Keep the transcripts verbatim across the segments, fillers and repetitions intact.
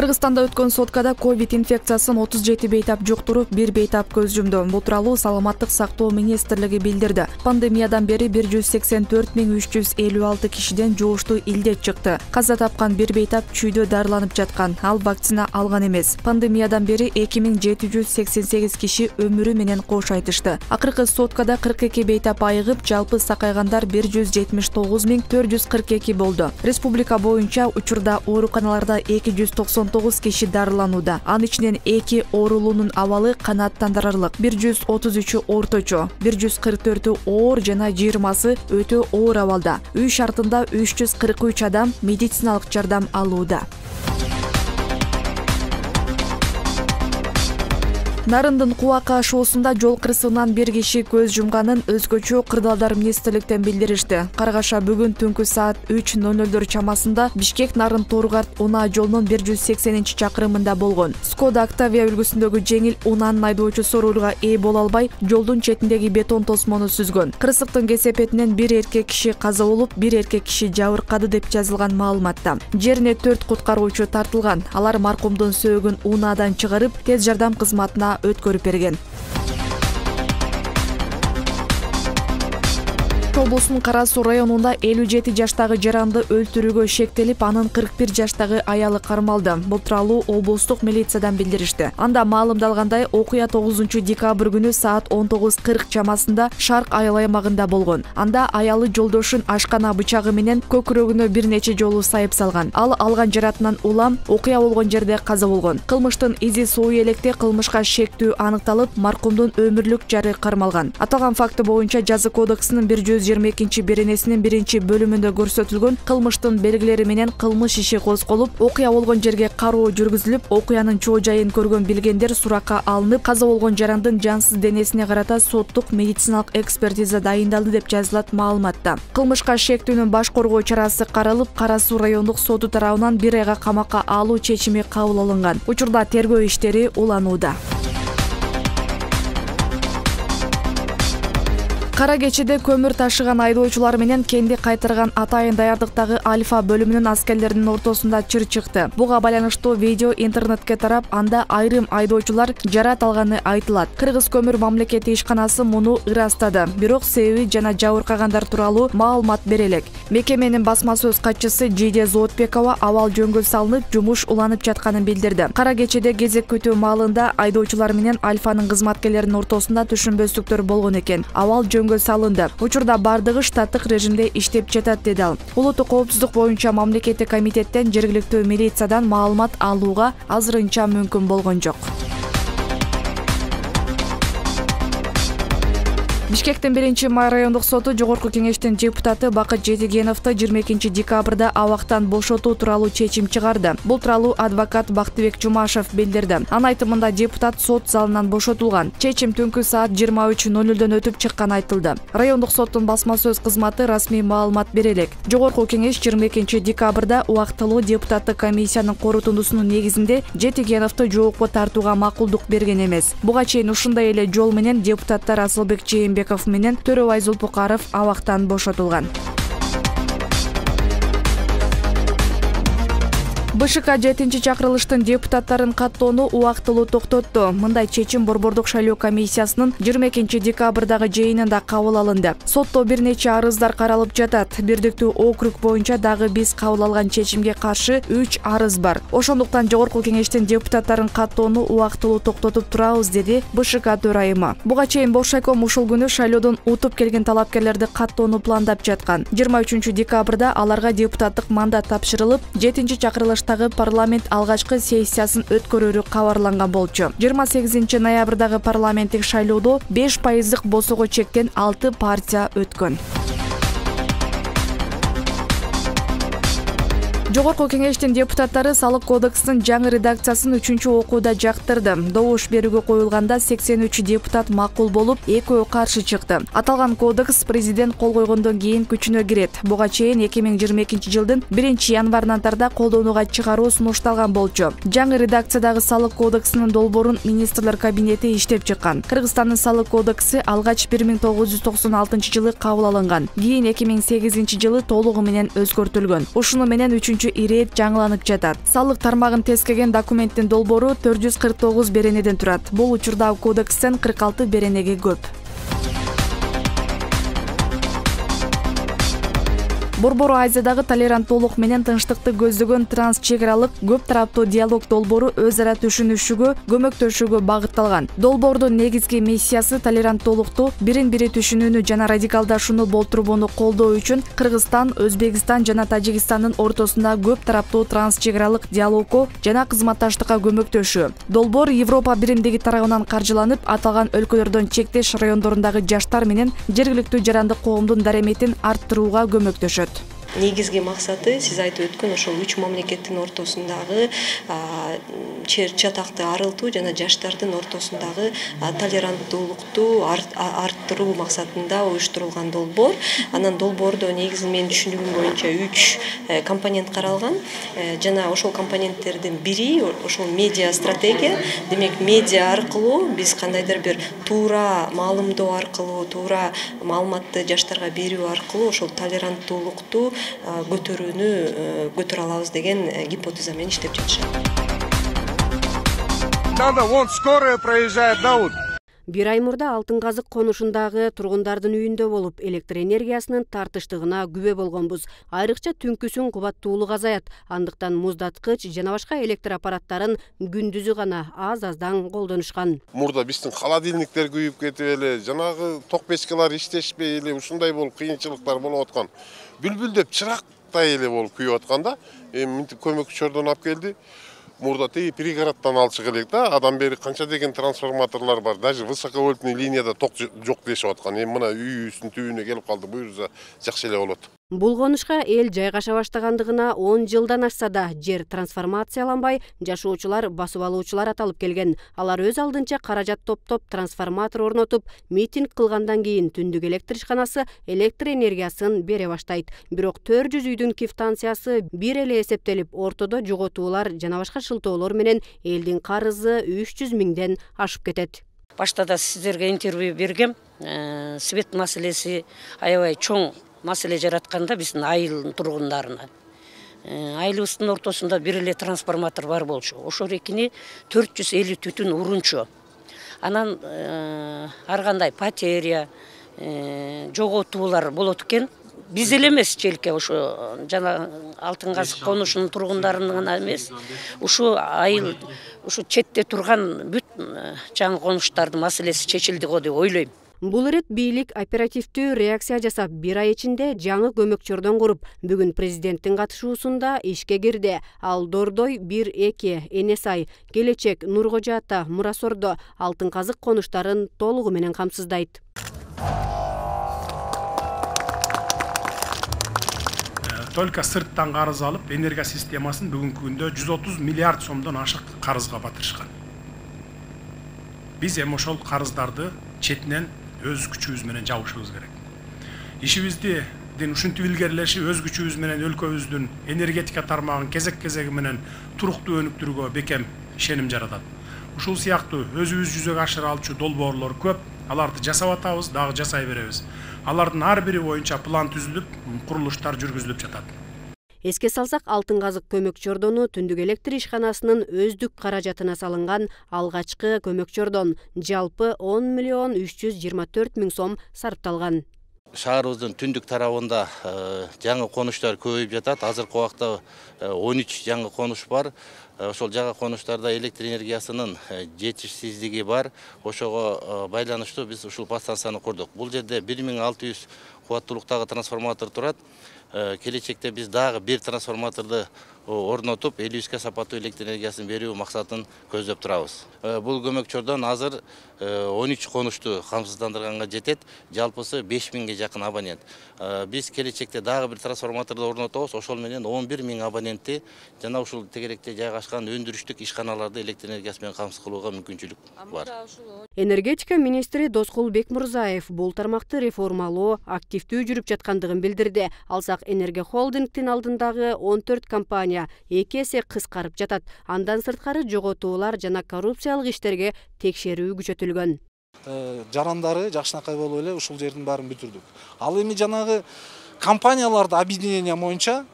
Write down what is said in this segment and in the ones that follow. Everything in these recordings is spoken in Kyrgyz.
Кыргызстанда өткөн соткада ковид инфекциясын отуз жети бейтап жуктуруп, бир бейтап көз жумду. Бул тууралуу Саламаттык сактоо министрлиги билдирди. Пандемиядан бери бир жүз сексен төрт миң үч жүз элүү алты кишиден жугуштуу илдет чыкты. Каза тапкан бир бейтап чүйдө дарыланып жаткан. Ал вакцина алган эмес. Пандемиядан бери эки миң жети жүз сексен сегиз киши өмүрү менен кош айтышты. Акыркы соткада кырк эки бейтап айыгып, жалпы сакайгандар бир жүз жетимиш тогуз миң төрт жүз кырк эки болду. Республика боюнча учурда ооруканаларда эки жүз токсон тогуз киши дарыланууда. Анын ичинен эки оорулуунун абалы канааттандырарлык, бир жүз отуз үчү орточо, бир жүз кырк төртү оор жана жыйырмасы өтө оор абалда. Үй шартында үч жүз кырк үч адам медициналык жардам алууда. Нарындын Кубака ашуусунда жол кырсыгынан бир киши көз жумганын өзгөчө кырдаалдар министрликтен билдиришти. Карагаша бүгүн түнкү саат үч ноль нолдор чамасында Бишкек Нарын Торгарт унаа жолунун бир жүз сексенинчи чакырымында болгон. Skoda Octavia үлгүсүндөгү жеңил унаанын айдоочусу рулга ээ боло албай, жолдун четиндеги бетон тосмону сүзгөн. Кырсыктын кесепетинен бир эркек киши каза болуп, бир эркек киши жабыркады деп жазылган маалыматта. Жерине төрт куткаруучу тартылган. Алар маркумдун сөөгүн унаадан чыгарып, тез жардам кызматына өткөрүп берген. Облустун Кара Суу районунда элүү жети жаштагы жаранды өлтүрүүгө шектелип, анын кырк бир жаштагы аялы кармалды. Бул тууралуу облустук милициядан билдиришти. Анда маалымдалгандай, окуя тогузунчу декабрь күнү саат он тогуз кырк чамасында Шарк айыл аймагында болгон. Анда аялы жолдошун ашкана бычагы менен көкүрөгүнө бир нече жолу сайып салган. Ал алган жаратынан улам окуя болгон жерде каза болгон. Кылмыштын изи суу электе кылмышка шектүү аныкталып, маркумдун өмүрлүк жары кармалган. Аталган факты боюнча жаза кодексинин бир жүз жыйырма экинчи беренесинин биринчи бөлүмүндө көрсөтүлгөн кылмыштын белгилери менен кылмыш иши козголуп, окуя болгон жерге кароо жүргүзүлүп, окуянын чоо жайын көргөн билгендер суракка алынып, каза болгон жарандын жансыз денесине карата соттук медициналык экспертиза дайындалды деп жазылат маалыматта. Кылмышка шектүүнүн баш коргоо чарасы каралып, Кара Суу райондук соту тарабынан бир айга камакка алуу чечими кабыл алынган. Учурда тергөө иштери уланууда. Кара кечеде көмүр ташыган айдоочулар менен кенди кайтарган атайын даярдыктагы Альфа бөлүмүнүн аскерлеринин ортосунда чыр чыкты. Буга байланыштуу видео интернетке тарап, анда айрым айдоочулар жарат алганы айтылат. Кыргыз көмүр мамлекеттик ишканасы муну ырастады. Бирок себеби жана жабыркагандар тууралуу маалымат бере элек. Мекеменин басма сөз катчысы Жиде Зоотбекова абал жөнгө салынып, жумуш уланып жатканын билдирди. Кара кечеде кезек күтүү маалында айдоочулар менен Альфанын кызматкерлеринин ортосунда түшүнбөстүктөр болгон экен. Абал жөнгө салынды. Учурда бардыгы штаттык режимде иштеп жатат, деди ал. Улуттук коопсуздук боюнча мамлекеттик комитеттен жергиликтүү милициядан маалымат алууга азырынча мүмкүн болгон жок. Бишкектин биринчи май райондук соту Жогорку кеңештин депутаты Бакыт Жетигеновду жыйырма экинчи декабрда абактан бошотуу тууралуу чечим чыгарды. Бул тууралуу адвокат Бактыбек Жумашев билдирди. Анын айтымында депутат сот залынан бошотулган. Чечим түнкү саат жыйырма үч ноль нолдон өтүп чыкканы айтылды. Райондук соттун басма сөз кызматы расмий маалымат бере элек. Жогорку кеңеш жыйырма экинчи декабрда убактылуу депутаттык комиссиянын корутундусунун негизинде Жетигеновду жоопко тартууга макулдук берген эмес. Буга чейин ушундай эле жол менен депутаттар Асылбек Жээнбеков менен Төрөбай Зулпукаров абактан бошотулган. БШК жетинчи чакырылыштын депутаттарын каттоону убактылуу токтотту. Мындай чечим Борбордук шайлоо комиссиясынын жыйырма экинчи декабрдагы жыйынында кабыл алынды. Сотто бир нече арыздар каралып жатат. Бирдиктүү округ боюнча дагы биз кабыл алган чечимге каршы үч арыз бар. Ошондуктан Жогорку кеңештин депутаттарын каттоону убактылуу токтотуп турабыз, деди БШК төрайымы. Буга чейин Боршайком ушул күнү шайлоодон утуп келген талапкерлерди каттоону пландап жаткан. жыйырма үчүнчү декабрда аларга депутаттык мандат тапшырылып, жетинчи чакырылыш парламент алгачкы сессиясын өткөрүүрү кабарланган болчу. жыйырма сегизинчи ноябрдагы парламенттик шайлоодо беш пайыздык босого чектен алты партия өткөн. Жогорку кеңештин депутаттары салык кодексинин жаңы редакциясын үчүнчү окууда жактырды. Добуш берүүгө коюлганда сексен үч депутат макул болуп, экөө каршы чыкты. Аталган кодекс президент кол койгондон кийин күчүнө кирет. Буга чейин эки миң жыйырма экинчи жылдын биринчи январынан тарда колдонууга чыгаруу сунушталган болчу. Жаңы редакциядагы салык кодексинин долбоорун министрлер кабинети иштеп чыккан. Кыргызстандын салык кодекси алгач бир миң тогуз жүз токсон алтынчы жылы кабыл алынган. Кийин эки миң сегизинчи жылы толугу менен өзгөртүлгөн. Ушуну менен үчүнчү боюнча ирет жаңыланып жатат. Салык тармагын тескеген документтин долбоору төрт жүз кырк тогуз беренеден турат. Бул учурда кодекстен кырк алты беренеге көп. Борбору Азиядагы толеранттуулук менен тынчтыкты көздөгөн транс чек аралык көп тараптуу диалог долбоору өз ара түшүнүшүүгө, көмөктөшүүгө багытталган. Долбоордун негизги миссиясы толеранттуулукту, бирин-бири түшүнүүнү жана радикалдашууну болтурбоону колдоо үчүн Кыргызстан, Өзбекстан жана Тажикстандын ортосунда көп тараптуу транс чек аралык диалогго жана кызматташтыкка көмөктөшүү. Долбоор Европа биримдиги тарабынан каржыланып, аталган өлкөлөрдөн чектеш райондорундагы жаштар менен жергиликтүү жарандык коомдун дареметин арттырууга көмөктөшөт. Негизги максаты сиз айтып өткөн ошол үч мамлекеттин ортосундагы чатакты арылтуу жана жаштардын ортосундагы толеранттуулукту арттыруу максатында уюштурулган долбоор. Анан долбоордо негизи менин түшүнүгүм боюнча үч компонент каралган жана ошол компоненттердин бири ошол медиа стратегия. Демек медиа аркылуу биз кандайдыр бир туура маалымдоо аркылуу, туура маалыматты жаштарга берүү аркылуу ошол толеранттуулукту көтөрүүнү көтөрө алабыз деген гипотеза менен иштеп жатышат. Надо, вон скорая проезжает, да, вот. Бир ай мурда Алтын казык конушундагы тургундардын үйүндө болуп, электр энергиясынын тартыштыгына күбө болгонбуз. Айрыкча түнкүсүн кубаттуулук азаят, андыктан муздаткыч жана башка электр аппараттарын күндүзү гана аз-аздан колдонушкан. Мурда биздин холодильниктер күйүп кетип эле, жанагы ток печкалар иштешпей эле, ушундай болуп кыйынчылыктар болуп аткан. Бүлбүлдөп чырактай эле болуп күйүп атканда, эми мынтип көмөкчүлөрдөн алып келди. Мурда тиги пригороддон алчык элек да, адам бери канча деген трансформаторлор бар, даже высоковольтный линияда ток жок дешип аткан. Эми мына үйүбүздүн түбүнө келип калды, буюрса жакшы эле болот. Бул конушка эл жайгаша баштагандыгына он жылдан ашса да жер трансформацияланбай, жашоочулар басып алуучулар аталып келген. Алар өз алдынча каражат топтоп, трансформатор орнотуп, митинг кылгандан кийин түндүк электр ишканасы электр энергиясын бере баштайт. Бирок төрт жүз үйдүн квитанциясы бир эле эсептелип, ортодо жоготуулар жана башка шылтоолор менен элдин карызы үч жүз миңден ашып кетет. Башта да сиздерге интервью бергем. Свет маселеси аябай чоң маселе жаратканда биздин айыл тургундарына. Айылыбыздын ортосунда бир эле трансформатор бар болчу. Ошол экини төрт жүз элүү түтүн урунчу. Анан ар кандай потеря, жоготуулар болот экен. Биз эле эмес челке ошо жана Алтын казык конушунун тургундарынын гана эмес. Ушу айыл, ушу четте турган бүт жаңы конуштардын маселеси чечилди го деп ойлойм. Бул ирет бийлик оперативдүү реакция жасап, бир ай ичинде жаңы көмөкчөрдөн куруп, бүгүн президенттин катышуусунда ишке кирди. Ал Дордой бир эки, Энесай, Келечек, Нуркожо Ата, Мурасордо Алтын казык конуштарын толугу менен камсыздайт. Только сырттан карыз алып, энергия системасын бүгүнкү күндө жүз отуз миллиард сомдон ашык карызга батырышкан. Биз эми ошол карыздарды четинен өз күчүбүз менен жабышыбыз керек. Ишибиздин ушинтип илгерилеши өз күчүбүз менен өлкөбүздүн энергетика тармагын кезек-кезеги менен туруктуу өнүктүрүүгө бекем ишеним жаратат. Ушул сыяктуу өзүбүз жүзөгө ашыра алчу долбоорлор көп. Аларды жасап атабыз, дагы жасай беребиз. Алардын ар бири боюнча план түзүлүп, курулуштар жүргүзүлүп жатат. Эске салсак, Алтын казык көмөкчөрдөнү түндүк электр ишканасынын өздүк каражатына салынган алгачкы көмөкчөрдөн жалпы он миллион үч жүз жыйырма төрт миң сом сарпталган. Шаарыбыздын түндүк тарабында жаңы конуштар көбөйүп жатат. Азыркы убакта он үч жаңы конуш бар. Ошол жаңы конуштарда электр энергиясынын жетишсиздиги бар. Ошого байланыштуу биз ушул подстанцияны курдук. Бул жерде бир миң алты жүз кубаттуулуктагы трансформатор турат. Келечекте биз дагы бир трансформаторду орнотуп, элүү үчкө сапаттуу электр энергиясын берүү максатын көздөп турабыз. Бул көмөкчөрдөн азыр он үч конушту камсыздандырганга жетет, жалпысы беш миңге жакын абонент. Биз келечекте дагы бир трансформаторду орнотобуз, ошол менен он бир миң абонентти жана ушул тегеректе жайгашкан өндүрүштүк ишканаларды электр энергиясы менен камсыз кылууга мүмкүнчүлүк бар. Энергетика министри Доскул Бекмурзаев бул тармакты реформалоо активдүү жүрүп жаткандыгын билдирди. Алсак Энерго холдингдин алдындагы он төрт компания эки эсе кыскарып жатат. Андан сырткары жоготуулар жана коррупциялык иштерге текшерүү күчөтүлгөн. Жарандары жакшынакай болуп эле ушул жердин баарын бүтүрдүк. Ал эми жанагы компанияларды объединение боюнча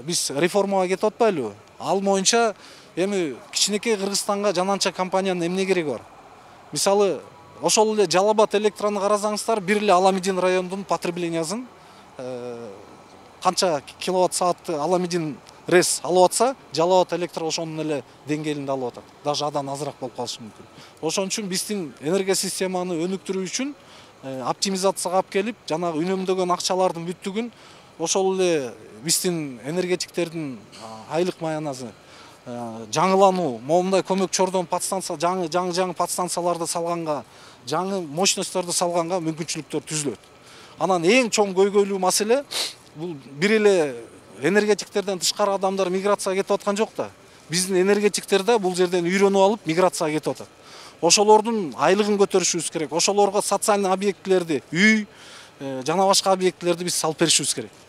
биз реформага кетип атпайлыбы? Ал боюнча эми кичинекей Кыргызстанга жананча компаниянын эмне кереги бар? Мисалы, ошол эле Жалал Абад электрону карасаңыздар, бир эле Аламедин районунун потреблениясын канча киловатт саатты Аламедин рес алып атса, Жалал Абад электро ошонун эле деңгээлинде алып атат. Даже адан азыраак болуп калышы мүмкүн. Ошон үчүн биздин энергия системаны өнүктүрүү үчүн оптимизацияга алып келип, жанагы үнөмдөгөн акчалардын бүттүгүн ошол эле биздин энергетиктердин айлык маянасы жаңылануу, момундай көмөкчөрдөн подстанция, жаңы жаңы жаңы подстанцияларды салганга, жаңы мощностьторду салганга мүмкүнчүлүктөр түзүлөт. Анан эң чоң көйгөйлүү маселе бул бир эле энергетиктерден тышкары адамдар миграцияга кетип аткан жок да. Биздин энергетиктер да бул жерден үйрөнүп алып миграцияга кетип атат. Ошолордун айлыгын көтөрүшүбүз керек. Ошолорго социальный объектилерди, үй жана башка объектилерди биз салып беришибиз керек.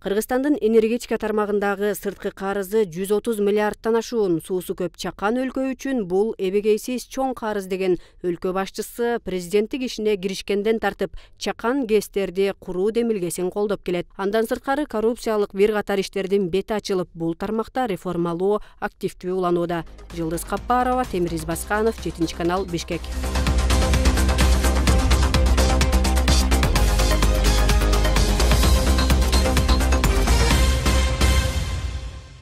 Кыргызстандын энергетика тармагындагы сырткы карызы жүз отуз миллиардтан ашуун. Суусу көп чакан өлкө үчүн бул эбегейсиз чоң карыз деген өлкө башчысы президенттик ишине киришкенден тартып чакан ГЭСтерди куруу демилгесин колдоп келет. Андан сырткары коррупциялык бир катар иштердин бети ачылып, бул тармакта реформалоо активдүү уланууда. Жылдыз Каппарова, Темир Избасканов, жетинчи канал, Бишкек.